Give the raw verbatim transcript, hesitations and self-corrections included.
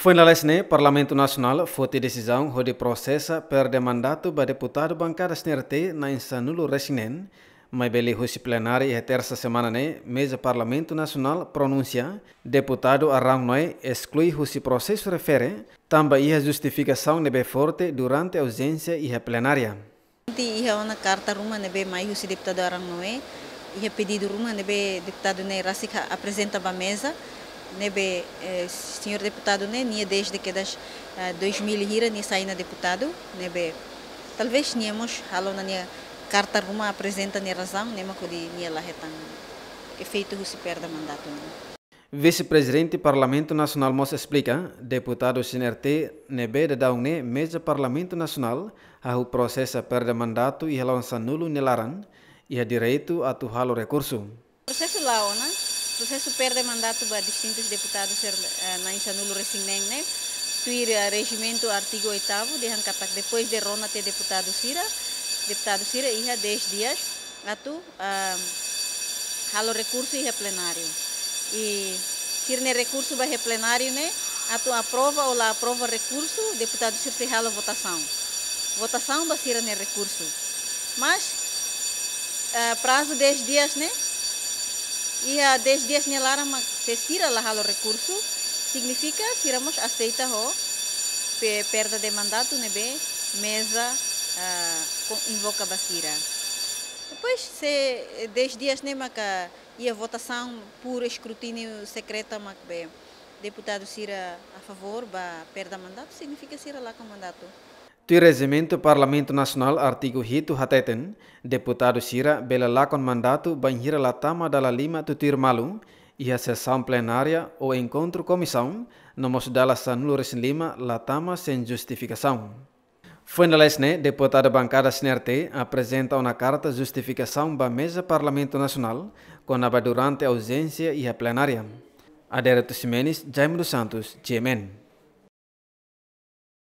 Foin lalais ne'e, Parlamentu Nasionál foti desizaun hodi prosesa perde mandatu ba deputadu bankada C N R T na'in sanulu-resin-neen, maibé liuhusi plenária iha tersa semana ne'e, meza Parlamentu Nasionál pronunsia deputadu Arão Noé esklui husi prosesu refere, tanba iha justifikasaun ne'ebé forte durante auzénsia iha plenária. Iha ona karta ruma ne'ebé mai husi deputadu Arão Noé, iha pedidu ruma ne'ebé deputadu ne'e rasik aprezenta ba meza, ne'ebé, eh, señór deputadu ne'e, nia dezde kedas, eh, dois mil hira nia sai ona deputadu, ne'ebé talvés nia mós halo ona nia karta ruma aprezenta nia razaun, ne'e mak hodi nia la hetan efeitu husi perde mandatu ne'e. Vise-Prezidente Parlamentu Nasionál mós esplika, deputadu C N R T ne'ebé daudaun ne'e meza Parlamentu Nasionál hahú prosesa perde mandatu iha la'o sanulu nia laran, iha direitu atu halo rekursu. Prosesu la'o ona, prosesu perde mandatu ba distintus deputadu sira, eh, na'in sanulu-resin-neen ne'e, tuir, eh, rejimentu artigu oitavu, dehan katak depois de rona tiha deputadu sira, deputadu sira iha dez dias atu, ah, halo rekursu iha plenáriu. I sira-nia rekursu ba iha plenáriu ne'e, atu aprova ou la aprova rekursu, deputadu sira sei halo votasaun. Votasaun ba sira-nia rekursu. Mas, ah, prazu dez dias ne'e, iha dez dias nia laran mak se sira la halo rekursu, signifika sira mós aseita ho pe-, perda de mandatu ne'ebé meza, ah, ko-, invoka ba sira. Depois, se, eh, dez dias ne'e maka iha votasaun por escrutínio secreto mak be deputadu sira a favór ba perda mandatu, signifika sira lakon mandatu. Tuir rejimentu Parlamentu Nasionál artigu hitu hateten, deputadu sira bele lakon mandatu bainhira la tama dala lima tutuir malu, iha sesaun plenária ou enkontru komisaun, no mós dala sanulu-resin-lima la tama sein justifikasaun. Foin lalais ne'e, deputadu bankada C N R T aprezenta ona karta justifikasaun ba meza Parlamentu Nasionál, kona-ba durante auzénsia iha plenária. Adérito Ximenes, Jaime dos Santos, G M N.